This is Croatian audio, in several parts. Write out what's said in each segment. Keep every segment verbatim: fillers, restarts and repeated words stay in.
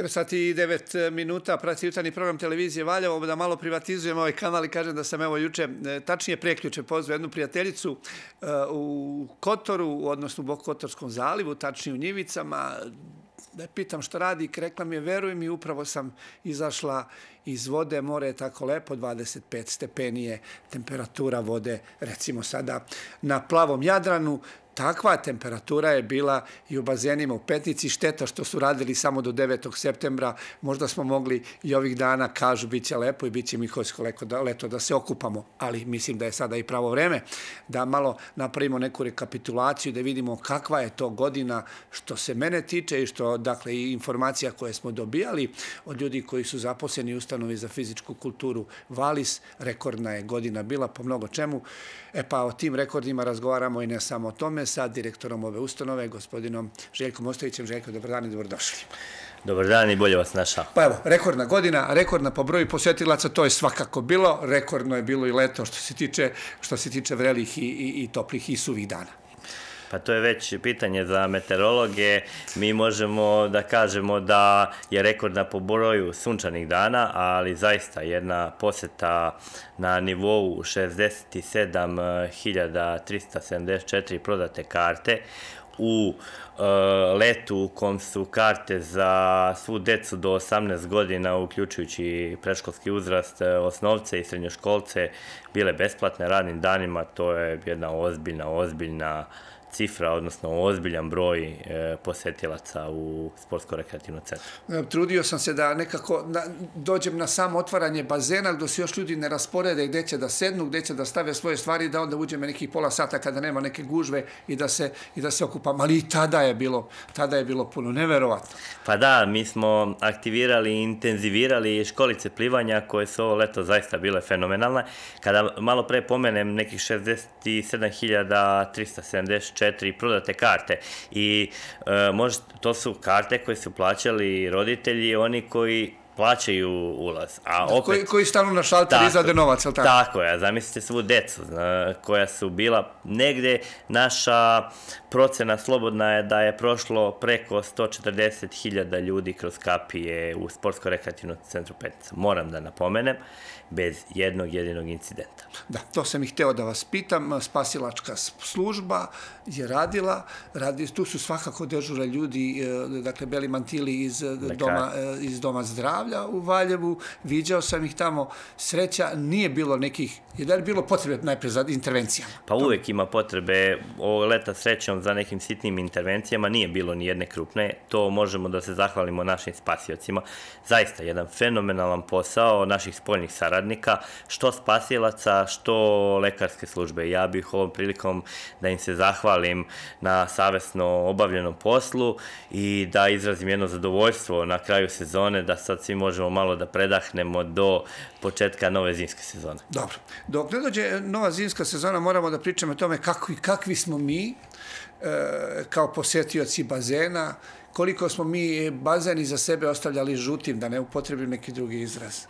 devet sati i devet minuta, prati jutarnji program televizije Valjevo, da malo privatizujemo ovaj kanal i kažem da sam evo juče, tačnije preključe, pozvao jednu prijateljicu u Kotoru, odnosno u Bokotorskom zalivu, tačnije u Njivicama, da je pitam što radi, rekla mi je, veruj mi, upravo sam izašla iz vode, more je tako lepo, dvadeset pet stepeni je temperatura vode, recimo sada na plavom Jadranu. Takva temperatura je bila i u bazenima u Petnici. Šteta što su radili samo do devetog septembra. Možda smo mogli i ovih dana, kažu, bit će lepo i bit će Miholjsko leto da se okupamo. Ali mislim da je sada i pravo vreme da malo napravimo neku rekapitulaciju i da vidimo kakva je to godina što se mene tiče i što, dakle, i informacija koje smo dobijali od ljudi koji su zaposleni u ustanovi za fizičku kulturu Valis. Rekordna je godina bila po mnogo čemu. E pa o tim rekordima razgovaramo i ne samo o tome sa direktorom ove ustanove, gospodinom Željkom Ostojićem. Željko, dobar dan i dobrodošli. Dobar dan i bolje vas našao. Pa evo, rekordna godina, rekordna po broju posjetilaca, to je svakako bilo. Rekordno je bilo i leto što se tiče, što se tiče vrelih i, i, i toplih i suvih dana. Pa to je već pitanje za meteorologe. Mi možemo da kažemo da je rekordna po broju sunčanih dana, ali zaista jedna poseta na nivou šezdeset sedam hiljada trista sedamdeset četiri prodate karte. U letu u kom su karte za svu decu do osamnaest godina, uključujući predškolski uzrast, osnovce i srednjoškolce, bile besplatne radnim danima. To je jedna ozbiljna, ozbiljna cifra, odnosno ozbiljan broj posetilaca u sportsko-rekreativnom centru. Trudio sam se da nekako dođem na samo otvaranje bazena gdje se još ljudi ne rasporede gdje će da sednu, gdje će da stave svoje stvari, da onda uđeme nekih pola sata kada nema neke gužve i da se, i da se okupam. Ali i tada je bilo, tada je bilo puno, neverovatno. Pa da, mi smo aktivirali i intenzivirali školice plivanja koje su ovo leto zaista bile fenomenalne. Kada malo pre pomenem nekih šezdeset sedam hiljada trista sedamdeset četiri prodate karte i e, možda, to su karte koje su plaćali roditelji, oni koji plaćaju ulaz. A opet, koji, koji stanu na šalter i izvade novac, ali tako? Tako je, zamislite svu decu zna, koja su bila negde. Naša procena slobodna je da je prošlo preko sto četrdeset hiljada ljudi kroz kapije u sportsko-rekreativnom centru Petnica. Moram da napomenem, bez jednog jedinog incidenta. Da, to sam i hteo da vas pitam. Spasilačka služba je radila, radi, tu su svakako dežura ljudi, dakle, beli mantili iz doma, iz doma zdravlja u Valjevu, viđao sam ih tamo, sreća, nije bilo nekih, je da li bilo potrebe najpre za intervencijama? Pa uvek ima potrebe, ovo leta srećom za nekim sitnim intervencijama, nije bilo ni jedne krupne, to možemo da se zahvalimo našim spasiocima, zaista jedan fenomenalan posao naših spoljnih saradnika, što spasilaca, što lekarske službe. Ja bih ovom prilikom da im se zahvalim na savesno obavljenom poslu i da izrazim jedno zadovoljstvo na kraju sezone, da sad svi možemo malo da predahnemo do početka nove zimske sezone. Dobro. Dok ne dođe nova zimska sezona, moramo da pričamo o tome kakvi, kakvi smo mi e, kao posjetioci bazena, koliko smo mi bazeni za sebe ostavljali žutim, da ne upotrebim neki drugi izraz.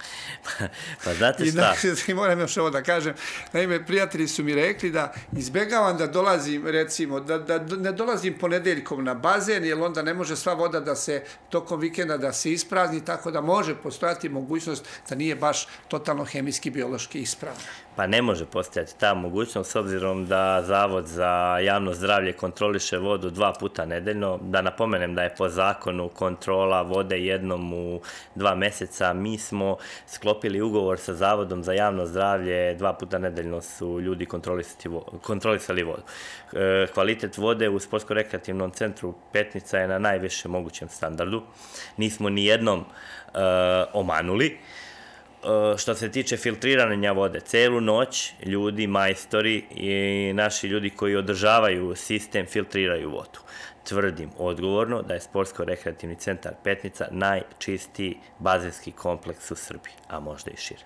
Pa znate šta? I moram još ovo da kažem. Naime, prijatelji su mi rekli da izbegavam da dolazim, recimo, da, da ne dolazim ponedeljkom na bazen, jer onda ne može sva voda da se tokom vikenda da se isprazni, tako da može postojati mogućnost da nije baš totalno hemijski, biološki ispravna. Pa ne može postojati ta mogućnost, s obzirom da Zavod za javno zdravlje kontroliše vodu dva puta nedeljno. Da napomenem da je po zakonu kontrola vode jednom u dva meseca. Mi smo sklopili ugovor sa Zavodom za javno zdravlje, dva puta nedeljno su ljudi kontrolisali vodu. Kvalitet vode u sportsko-rekreativnom centru Petnica je na najvišem mogućem standardu. Nismo ni jednom omanuli. Što se tiče filtriranja vode, celu noć ljudi, majstori i naši ljudi koji održavaju sistem filtriraju vodu. Tvrdim odgovorno da je sportsko-rekreativni centar Petnica najčistiji bazenski kompleks u Srbiji, a možda i šire.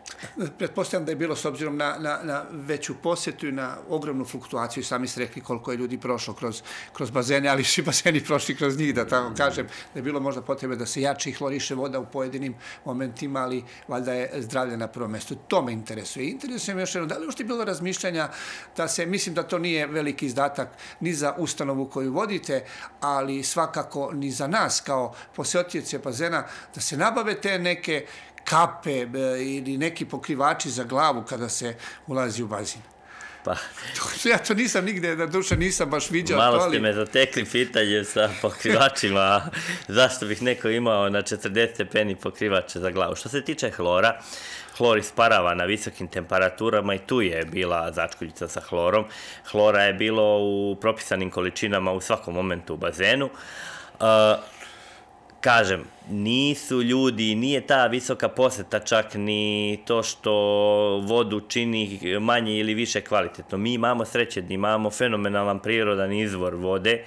Pretpostavljam da je bilo, s obzirom na, na, na veću posjetu i na ogromnu fluktuaciju, sami ste rekli koliko je ljudi prošlo kroz, kroz bazene, ali svi bazeni prošli kroz njih, da tako kažem, da je bilo možda potrebe da se jače i hloriše voda u pojedinim momentima, ali valjda je zdravlje na prvom mjestu. To me interesuje. Interesuje me još jedno, da li uopšte bilo razmišljanja da se, mislim da to nije veliki izdatak ni za ustanovu koju vodite, ali svakako ni za nas kao posjetioce bazena da se nabave te neke kape ili neki pokrivači za glavu kada se ulazi u bazin. Pa, ja to nisam nigde, na duše nisam baš viđao. Malo ste me zatekli pitanje sa pokrivačima, zašto bih neko imao na četrdeset stepeni pokrivače za glavu. Što se tiče hlora, hlor isparava na visokim temperaturama i tu je bila začkoljica sa hlorom. Hlora je bilo u propisanim količinama u svakom momentu u bazenu. Kažem, nisu ljudi, nije ta visoka poseta čak ni to što vodu čini manje ili više kvalitetno. Mi imamo sreće da imamo fenomenalan prirodan izvor vode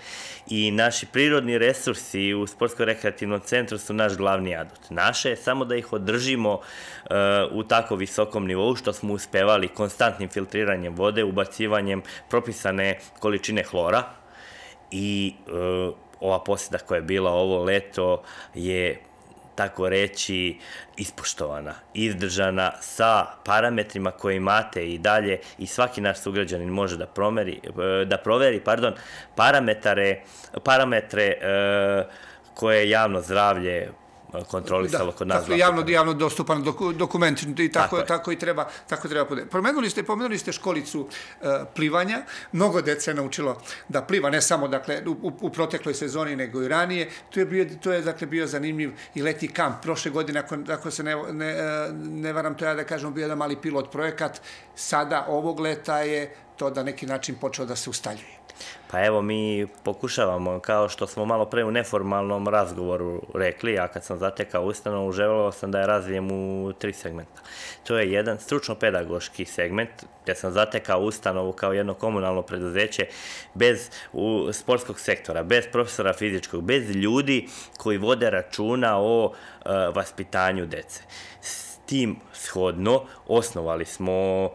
i naši prirodni resursi u Sportsko-rekreativnom centru su naš glavni adut. Naše je samo da ih održimo uh, u tako visokom nivou što smo uspevali konstantnim filtriranjem vode, ubacivanjem propisane količine hlora i uh, ova posjeda koja je bila ovo leto je, tako reći, ispoštovana, izdržana sa parametrima koje imate i dalje i svaki naš sugrađanin može da, promeri, da proveri pardon, parametre, parametre uh, koje je javno zdravlje kontrolisalo kod nas. Dakle, javno, javno dostupan dokument i tako, tako, tako i treba, tako treba podeliti. Pomenuli ste, pomenuli ste školicu uh, plivanja. Mnogo dece je naučilo da pliva, ne samo dakle, u, u protekloj sezoni, nego i ranije. To je bio, to je, dakle, bio zanimljiv i letnji kamp. Prošle godine, ako, ako se ne, ne, ne varam, to ja da kažem, bio jedan mali pilot projekat. Sada, ovog leta je to da neki način počeo da se ustaljuje. Pa evo, mi pokušavamo, kao što smo malo pre u neformalnom razgovoru rekli, ja kad sam zatekao ustanovu, želeo sam da je razvijem u tri segmenta. To je jedan stručno-pedagoški segment, gdje sam zatekao ustanovu kao jedno komunalno preduzeće bez u, sportskog sektora, bez profesora fizičkog, bez ljudi koji vode računa o uh, vaspitanju dece. Tim shodno osnovali smo uh,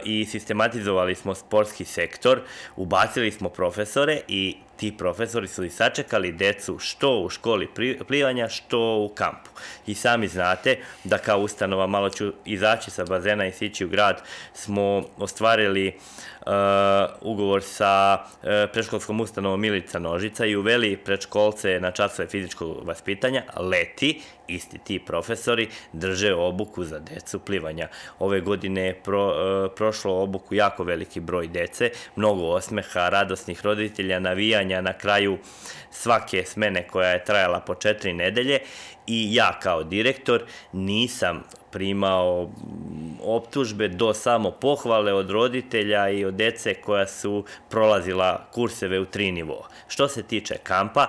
i sistematizovali smo sportski sektor, ubacili smo profesore i ti profesori su i sačekali decu što u školi plivanja, što u kampu. I sami znate da kao ustanova, malo ću izaći sa bazena i sići u grad, smo ostvarili uh, ugovor sa uh, predškolskom ustanovom Milica Nožica i uveli predškolce na časove fizičkog vaspitanja. Leti, isti ti profesori drže obuku za decu plivanja. Ove godine je pro, uh, prošlo obuku jako veliki broj dece, mnogo osmeha, radosnih roditelja, navijanja na kraju svake smene koja je trajala po četiri nedelje i ja kao direktor nisam primao optužbe do samo pohvale od roditelja i od dece koja su prolazila kurseve u tri nivoa. Što se tiče kampa,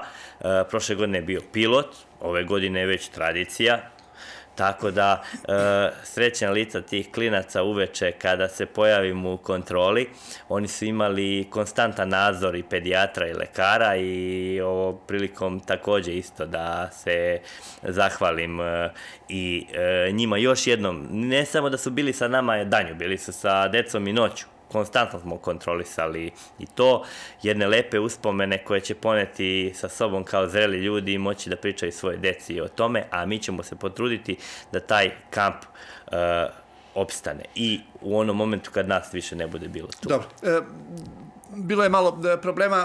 prošle godine je bio pilot, ove godine je već tradicija, tako da e, srećna lica tih klinaca uveče kada se pojavim u kontroli, oni su imali konstantan nadzor i pedijatra i lekara i ovo prilikom također isto da se zahvalim e, i e, njima još jednom, ne samo da su bili sa nama danju, bili su sa decom i noću. Konstantno smo kontrolisali i to, jedne lepe uspomene koje će poneti sa sobom kao zreli ljudi i moći da pričaju svoje deci o tome, a mi ćemo se potruditi da taj kamp uh, opstane i u onom momentu kad nas više ne bude bilo tu. Dobro. E, bilo je malo problema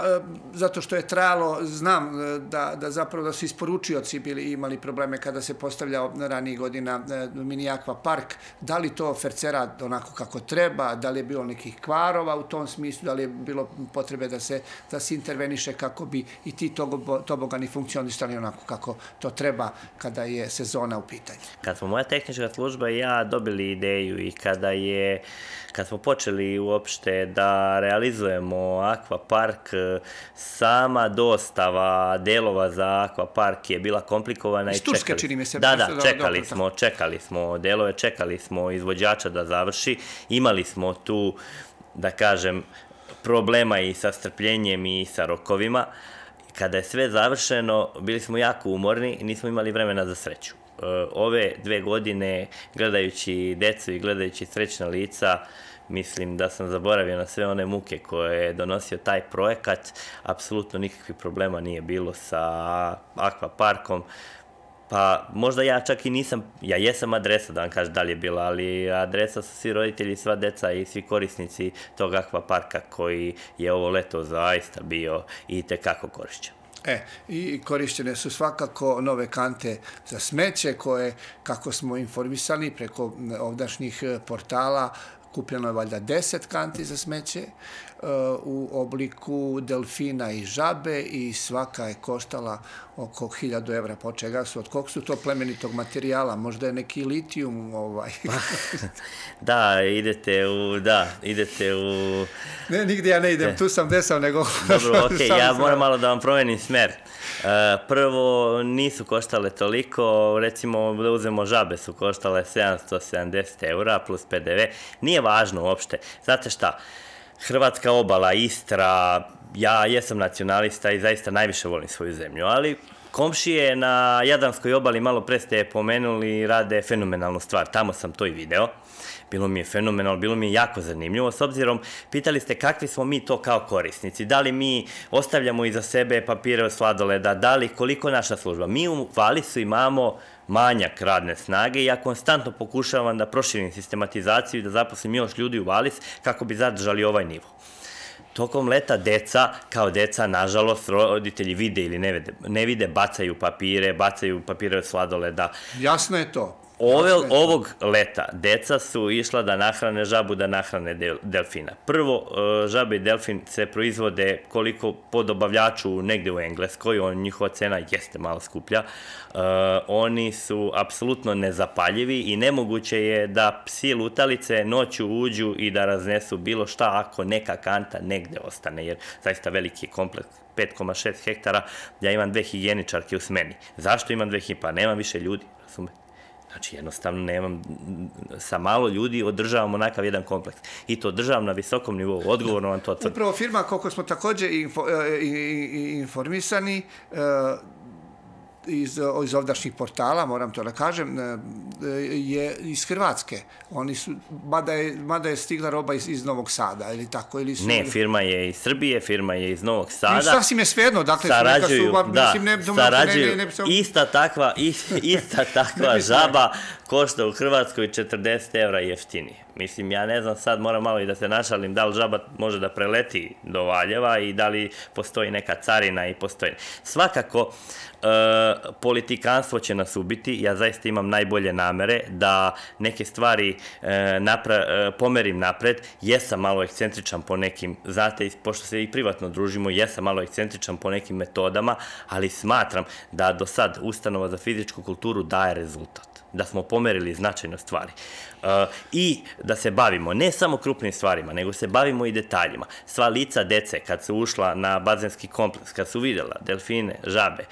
zato što je trajalo, znam da, da zapravo da su isporučioci bili imali probleme kada se postavljao ranijih godina mini akva park. Da li to fercera onako kako treba, da li je bilo nekih kvarova u tom smislu, da li je bilo potrebe da se, da se interveniše kako bi i ti tobogani funkcionisali onako kako to treba kada je sezona u pitanju. Kad smo moja tehnička služba i ja dobili ideju i kada je kad smo počeli uopšte da realizujemo akvapark, sama dostava delova za akvapark je bila komplikovana i čekali. Turske, čini mi se. Da, da, čekali smo, čekali smo delove, čekali smo izvođača da završi. Imali smo tu, da kažem, problema i sa strpljenjem i sa rokovima. Kada je sve završeno, bili smo jako umorni i nismo imali vremena za sreću. Ove dve godine, gledajući decu i gledajući srećna lica, mislim da sam zaboravio na sve one muke koje je donosio taj projekat. Apsolutno nikakvih problema nije bilo sa akvaparkom. Pa možda ja čak i nisam, ja jesam adresa da vam kažem da li je bila, ali adresa su svi roditelji, sva deca i svi korisnici tog akvaparka koji je ovo leto zaista bio i tekako korišćen. E, i korišćene su svakako nove kante za smeće koje, kako smo informisani preko ovdašnjih portala, kupljeno je valjda deset kanti za smeće u obliku delfina i žabe i svaka je koštala oko hiljadu evra. Po čega su? Od kog su to plemenitog materijala? Možda je neki litijum ovaj. Da, idete u, da, idete u... Ne, nigdje ja ne idem, tu sam desao nego... Dobro, okej, ja moram malo da vam promenim smer. Prvo, nisu koštale toliko, recimo da uzmemo žabe su koštale sedamsto sedamdeset eura plus pe de ve. Nije važno uopšte. Znate šta? Hrvatska obala, Istra, ja jesam nacionalista i zaista najviše volim svoju zemlju, ali komšije na Jadranskoj obali, malo pre ste pomenuli, rade fenomenalnu stvar. Tamo sam to i video. Bilo mi je fenomenalno, bilo mi je jako zanimljivo, s obzirom, pitali ste kakvi smo mi to kao korisnici, da li mi ostavljamo iza sebe papire od sladoleda, da li koliko naša služba. Mi u Valisu imamo manjak radne snage i ja konstantno pokušavam da proširim sistematizaciju i da zaposlim još ljudi u Valis kako bi zadržali ovaj nivo. Tokom leta deca, kao deca, nažalost, roditelji vide ili ne vide, ne vide, bacaju papire, bacaju papire od sladoleda. Jasno je to. Ove, ovog leta deca su išla da nahrane žabu, da nahrane del, delfina. Prvo, žabe i delfin se proizvode koliko po dobavljaču negde u Engleskoj, on, njihova cena jeste malo skuplja. Uh, oni su apsolutno nezapaljivi i nemoguće je da psi lutalice noću uđu i da raznesu bilo šta ako neka kanta negde ostane, jer zaista veliki kompleks pet zarez šest hektara, ja imam dve higijeničarke u smeni. Zašto imam dve higijeničarke? Pa nemam više ljudi, razumete? Znači, jednostavno nemam, sa malo ljudi održavamo onakav jedan kompleks. I to održavam na visokom nivou, odgovorno vam to tvrdim. Upravo firma, koliko smo također info, informisani, iz, iz ovdašnjih portala, moram to da kažem, je iz Hrvatske. Oni su, mada je, mada je stigla roba iz, iz Novog Sada, ili tako? Ili su... Ne, firma je iz Srbije, firma je iz Novog Sada. I sasvim je svejedno, dakle, sarađuju, su, da, mislim, ne, sarađuju, ne, ne, ne, ne, ista takva, ista takva žaba košta u Hrvatskoj četrdeset evra jeftinije. Mislim, ja ne znam, sad moram malo i da se našalim da li žaba može da preleti do Valjeva i da li postoji neka carina i postoji. Svakako, e, politikanstvo će nas ubiti, ja zaista imam najbolje namere da neke stvari e, napra, e, pomerim napred, jesam malo ekscentričan po nekim, znate, pošto se i privatno družimo, jesam malo ekscentričan po nekim metodama, ali smatram da do sad Ustanova za fizičku kulturu daje rezultat, da smo pomerili značajno stvari. Uh, I da se bavimo ne samo krupnim stvarima, nego se bavimo i detaljima. Sva lica dece, kad su ušla na bazenski kompleks, kad su vidjela delfine, žabe,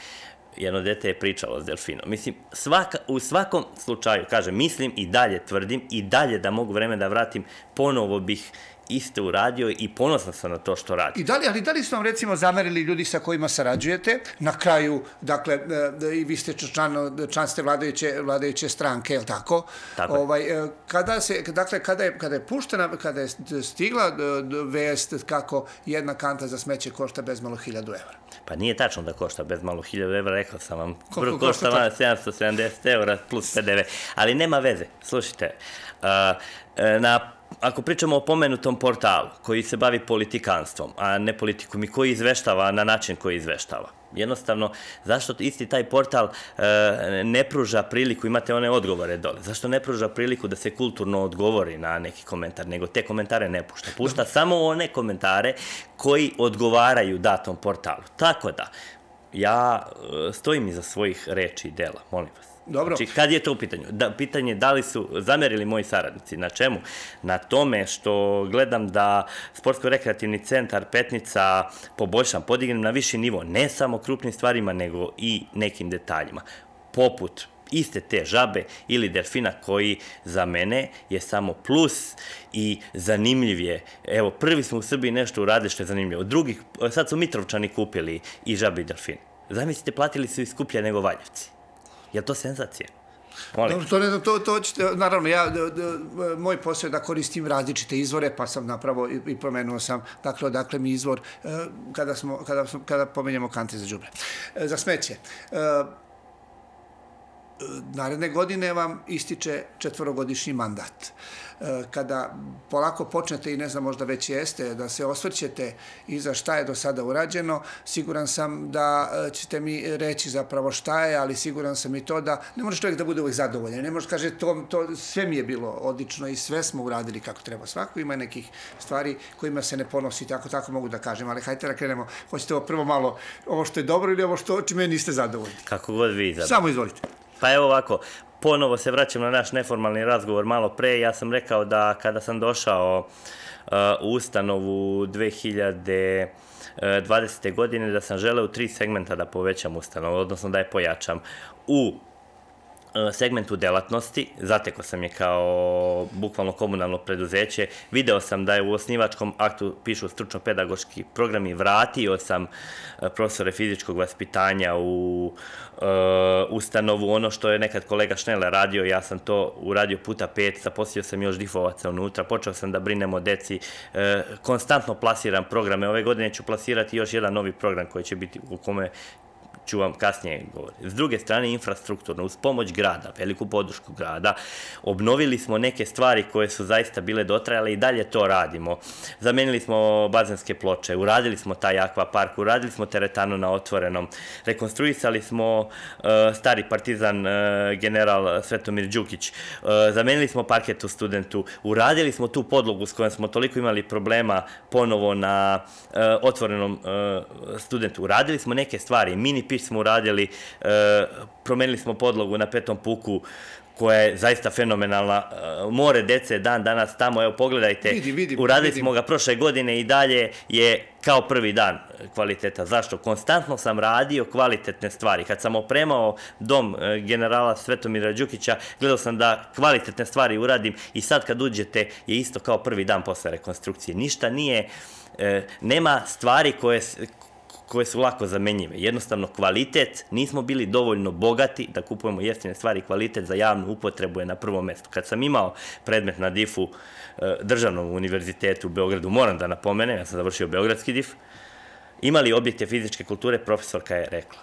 jedno dete je pričalo s delfinom. Mislim, svaka, u svakom slučaju, kažem, mislim i dalje tvrdim, i dalje da mogu vreme da vratim, ponovo bih isto uradio i ponosan sam na to što radi. I da li, ali da li su vam recimo zamerili ljudi sa kojima sarađujete? Na kraju, dakle, i vi ste član, član ste vladajuće, vladajuće stranke, je li tako? Tako ovaj, kada se, dakle, kada je, kada je puštena, kada je stigla vest kako jedna kanta za smeće košta bezmalo hiljadu evra? Pa nije tačno da košta bezmalo hiljadu evra, rekao sam vam. Prvo košta vam sedamsto sedamdeset evra plus pe de ve. Ali nema veze, slušajte, uh, na ako pričamo o pomenutom portalu koji se bavi politikanstvom, a ne politikom i koji izveštava na način koji izveštava. Jednostavno, zašto isti taj portal e, ne pruža priliku, imate one odgovore dole, zašto ne pruža priliku da se kulturno odgovori na neki komentar, nego te komentare ne pušta. Pušta samo one komentare koji odgovaraju datom portalu. Tako da, ja e, stojim iza svojih reči i dela, molim vas. Dobro. Znači, kad je to u pitanju? Da, pitanje da li su zamerili moji saradnici. Na čemu? Na tome što gledam da Sportsko-rekreativni centar Petnica poboljšam, podignem na viši nivo, ne samo krupnim stvarima, nego i nekim detaljima. Poput iste te žabe ili delfina koji za mene je samo plus i zanimljiv je. Evo, prvi smo u Srbiji nešto uradili što je zanimljivo. Drugi, sad su Mitrovčani kupili i žabe i delfine. Zamislite, platili su i skuplje nego Valjevci. Je li to senzacija? Dobro, to ne znam, to, to ćete, naravno, ja, d, d, moj posao je da koristim različite izvore, pa sam napravo i, i pomenuo sam, dakle, odakle mi izvor, e, kada, smo, kada, smo, kada pomenjamo kante za đubre. E, za smeće. E, naredne godine vam ističe četvorogodišnji mandat. Kada polako počnete, i ne znam, možda već jeste, da se osvrćete iza šta je do sada urađeno, siguran sam da ćete mi reći zapravo šta je, ali siguran sam i to da ne može čovjek da bude uvijek zadovoljan. Ne može kaže to, to sve mi je bilo odlično i sve smo uradili kako treba. Svako ima nekih stvari kojima se ne ponosi, tako tako mogu da kažem, ali hajte da krenemo. Hoćete ovo prvo malo, ovo što je dobro ili ovo što čime niste zadovoljni? Kako god vi izabrate. Samo izvolite. Pa evo ovako, ponovo se vraćam na naš neformalni razgovor malo pre. Ja sam rekao da kada sam došao uh, u ustanovu dve hiljade dvadesete. godine da sam želeo u tri segmenta da povećam ustanovu, odnosno da je pojačam. U segmentu delatnosti, zatekao sam je kao bukvalno komunalno preduzeće, video sam da je u osnivačkom aktu pišu stručno-pedagoški programi, vratio sam profesore fizičkog vaspitanja u uh, ustanovu, ono što je nekad kolega Šnele radio, ja sam to uradio puta pet, zaposlio sam još difovaca unutra, počeo sam da brinem o deci, uh, konstantno plasiram programe, ove godine ću plasirati još jedan novi program koji će biti u kome ću vam kasnije govoriti. S druge strane, infrastrukturno, uz pomoć grada, veliku podršku grada, obnovili smo neke stvari koje su zaista bile dotrajale i dalje to radimo. Zamenili smo bazenske ploče, uradili smo taj akvapark, uradili smo teretanu na otvorenom, rekonstruisali smo uh, stari partizan uh, general Svetomir Đukić, uh, zamenili smo parket u Studentu, uradili smo tu podlogu s kojom smo toliko imali problema ponovo na uh, otvorenom uh, Studentu, uradili smo neke stvari, mini pić smo uradili, e, promenili smo podlogu na Petom puku, koja je zaista fenomenalna. More dece dan danas tamo, evo pogledajte, vidim, vidim, uradili vidim. smo ga prošle godine i dalje je kao prvi dan kvaliteta. Zašto? Konstantno sam radio kvalitetne stvari. Kad sam opremao dom generala Svetomira Đukića, gledao sam da kvalitetne stvari uradim i sad kad uđete je isto kao prvi dan posle rekonstrukcije. Ništa nije, e, nema stvari koje koje su lako zamenjive. Jednostavno, kvalitet, nismo bili dovoljno bogati da kupujemo jeftine stvari, kvalitet za javnu upotrebu je na prvom mestu. Kad sam imao predmet na difu Državnom univerzitetu u Beogradu, moram da napomenem, ja sam završio Beogradski dif, imali objekte fizičke kulture, profesorka je rekla,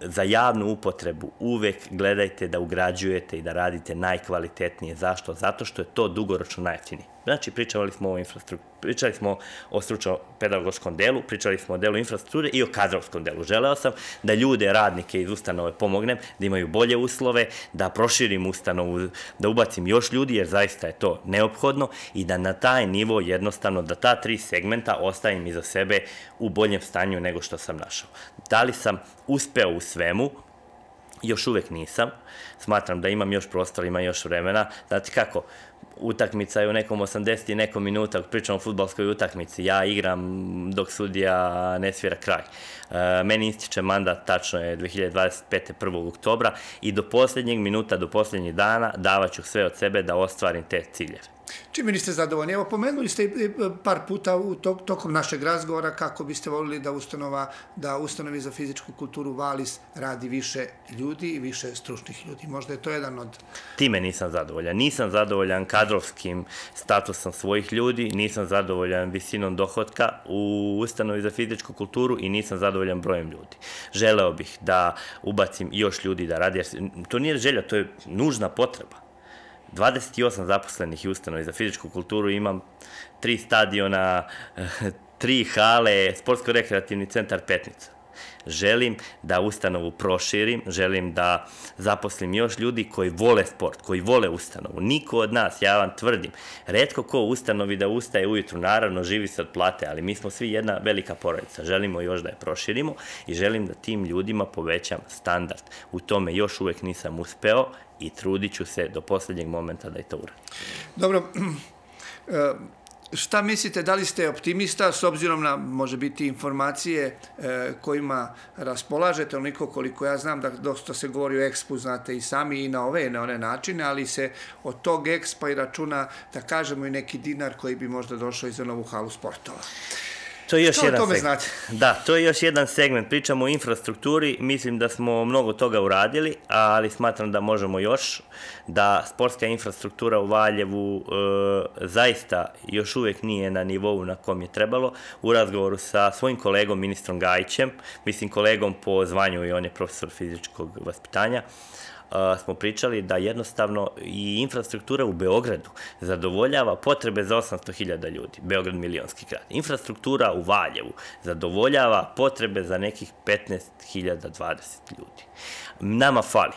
za javnu upotrebu uvek gledajte da ugrađujete i da radite najkvalitetnije. Zašto? Zato što je to dugoročno najjeftinije. Znači, pričali smo o infrastrukturi, pričali smo o stručno-pedagoškom delu, pričali smo o delu infrastrukture i o kadrovskom delu. Želeo sam da ljude, radnike iz ustanove pomognem, da imaju bolje uslove, da proširim ustanovu, da ubacim još ljudi, jer zaista je to neophodno i da na taj nivo jednostavno, da ta tri segmenta ostavim iza sebe u boljem stanju nego što sam našao. Da li sam uspeo u svemu? Još uvek nisam. Smatram da imam još prostora, imam još vremena. Znate kako, utakmica je u nekom osamdeset i nekom minuta, pričam o fudbalskoj utakmici, ja igram dok sudija ne svira kraj. Meni ističe mandat, tačno je dve hiljade dvadeset pete. prvog oktobra i do posljednjeg minuta, do posljednjeg dana davaću sve od sebe da ostvarim te ciljeve. Čime niste zadovoljni? Evo, pomenuli ste par puta u tokom našeg razgovora kako biste volili da ustanova, da ustanovi za fizičku kulturu Valis radi više ljudi i više stručnih ljudi. Možda je to jedan od... Time nisam zadovoljan. Nisam zadovoljan kadrovskim statusom svojih ljudi, nisam zadovoljan visinom dohotka u ustanovi za fizičku kulturu i nisam zadovoljan brojem ljudi. Želeo bih da ubacim još ljudi da radi, jer to nije želja, to je nužna potreba. dvadeset osam zaposlenih i ustanovi za fizičku kulturu, imam tri stadiona, tri hale, sportsko-rekreativni centar Petnica. Želim da ustanovu proširim, želim da zaposlim još ljudi koji vole sport, koji vole ustanovu. Niko od nas, ja vam tvrdim, retko ko u ustanovi da ustaje ujutru, naravno živi se od plate, ali mi smo svi jedna velika porodica. Želimo još da je proširimo i želim da tim ljudima povećam standard. U tome još uvek nisam uspeo i trudit ću se do posljednjeg momenta da je to uradim. Dobro, šta mislite, da li ste optimista s obzirom na, može biti, informacije kojima raspolažete, onoliko koliko ja znam da dosta se govori o ekspu, znate i sami i na ove i na one načine, ali se od tog ekspa i računa, da kažemo, i neki dinar koji bi možda došao i za novu halu sportova. To je još Što o jedan tome segment. znate? Da, to je još jedan segment. Pričamo o infrastrukturi, mislim da smo mnogo toga uradili, ali smatram da možemo još, da sportska infrastruktura u Valjevu e, zaista još uvek nije na nivou na kom je trebalo. U razgovoru sa svojim kolegom, ministrom Gajićem, mislim kolegom po zvanju i on je profesor fizičkog vaspitanja, smo pričali da jednostavno i infrastruktura u Beogradu zadovoljava potrebe za osamsto hiljada ljudi. Beograd milionski grad. Infrastruktura u Valjevu zadovoljava potrebe za nekih petnaest hiljada dvadeset ljudi. Nama fali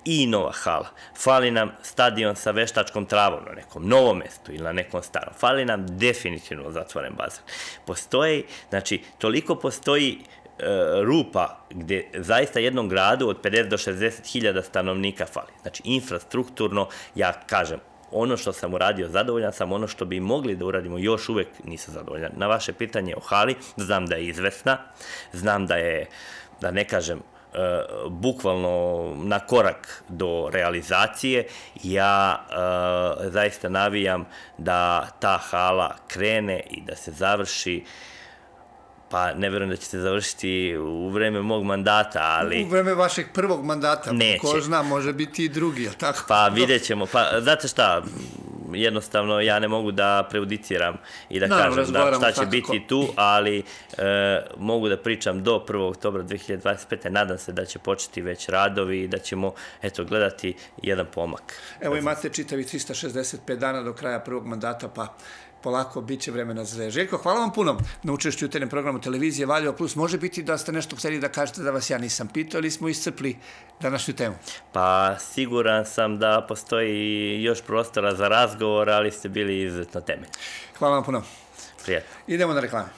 i nova hala. Fali nam stadion sa veštačkom travom na nekom novom mestu ili na nekom starom. Fali nam definitivno zatvoren bazen. Postoji, znači, toliko postoji e, rupa gdje zaista jednom gradu od pedeset do šezdeset hiljada stanovnika fali. Znači, infrastrukturno, ja kažem, ono što sam uradio, zadovoljan sam, ono što bi mogli da uradimo, još uvek nisam zadovoljan. Na vaše pitanje o hali, znam da je izvesna, znam da je, da ne kažem, Uh, bukvalno na korak do realizacije. Ja uh, zaista navijam da ta hala krene i da se završi, pa ne vjerujem da će se završiti u vreme mog mandata, ali... U vreme vašeg prvog mandata, neće. Ko zna, može biti i drugi, jel tako? Pa vidjet ćemo, pa znate šta, jednostavno ja ne mogu da prejudiciram i da no, kažem da šta će svakako biti tu, ali e, mogu da pričam do prvog oktobra dve hiljade dvadeset pete. Nadam se da će početi već radovi i da ćemo eto, gledati jedan pomak. Evo imate čitavi trista šezdeset pet dana do kraja prvog mandata, pa polako bit će vremena za sve. Željko, hvala vam puno na učešću u tenem programu televizije Valjevo Plus. Može biti da ste nešto htjeli da kažete da vas ja nisam pitao, ili smo iscrpli današnju temu? Pa siguran sam da postoji još prostora za razgovor, ali ste bili izuzetno temeljni. Hvala vam puno. Prijatno. Idemo na reklame.